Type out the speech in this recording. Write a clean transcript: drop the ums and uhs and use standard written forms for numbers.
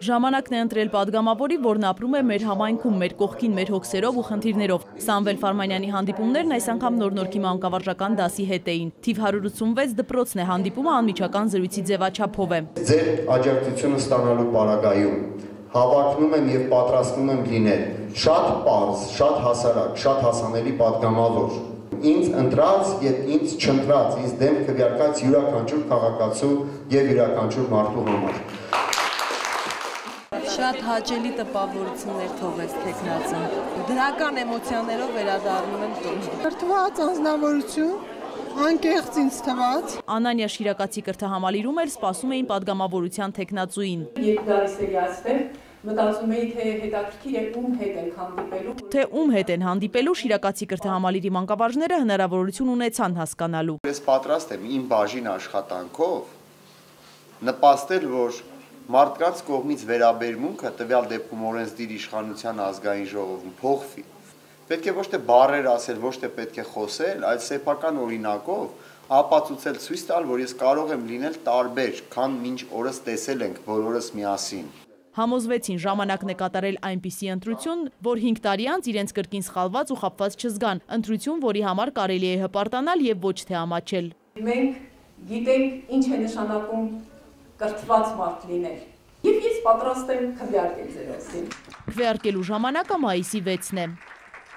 Ժամանակն է ընտրել պատգամավորի, որն ապրում է մեր համայնքում, մեր կողքին, մեր հոգսերով ու խնդիրներով։ Սամվել Ֆարմանյանի հանդիպումներն այս անգամ նոր-նորքի մանկավարժական դասի հետ էին։ Թիվ 186 դպրոցն է, հանդիպումը անմիջական զրույցի ձևաչափով է։ Ձեր աջակցությունը ստանալու պարագայում հավակնում եմ եւ պատրաստվում եմ լինել շատ պարզ, շատ հասարակ, շատ հասանելի պատգամավոր։ Ինձ ընտրած եւ ինձ չընտրած, ինձ դեմ քվեարկած յուրաքանչյուր քաղաքացու եւ յուրաքանչյուր մարդու համար։ Շատ հաճելի տպավորություններ թողեց տեխնացին։ Դրական էմոցիաներով վերադառնում եմ տուն։ Կրթված անձնավորություն, անկեղծ ինձ թվաց։ Անանյա Շիրակացի կրթահամալիրում էր սպասում էին պատգամավորության տեխնացուին։ Երբ գալիս էի այստեղ, մտածում էի, թե հետաքրքիր է ում հետ են հանդիպելու։ Թե ում հետ են հանդիպելու, Շիրակացի կրթահամալիրի մանկավարժները հնարավորություն ունեցան հասկանալու։ Ես պատրաստ եմ իմ բաժին աշխատանքով նպաստել, որ մարդկանց կողմից վերաբերմունքը տվյալ դեպքում օրենսդիր իշխանության ազգային ժողովում փոխվի։ Պետք է ոչ թե բառեր ասել, ոչ թե պետք է խոսել, այլ սեփական օրինակով ապացուցել, ցույց տալ, որ ես կարող եմ լինել տարբեր, քան մինչ օրս տեսել ենք բոլորս միասին։ Համոզվեցին ժամանակն է կատարել այնպիսի ընտրություն, որ 5 տարի անց իրենց կրկին սխալված ու խաբված չզգան, ընտրություն, որի համար կարելի է հպարտանալ եւ ոչ թե ամաչել։ Մենք գիտենք ինչ է նշանակում կրթված մարդ լինել։ Եվ ես պատրաստ եմ քվեարկել ձեր ասին։ Քվեարկելու ժամանակը մայիսի 6-ն է։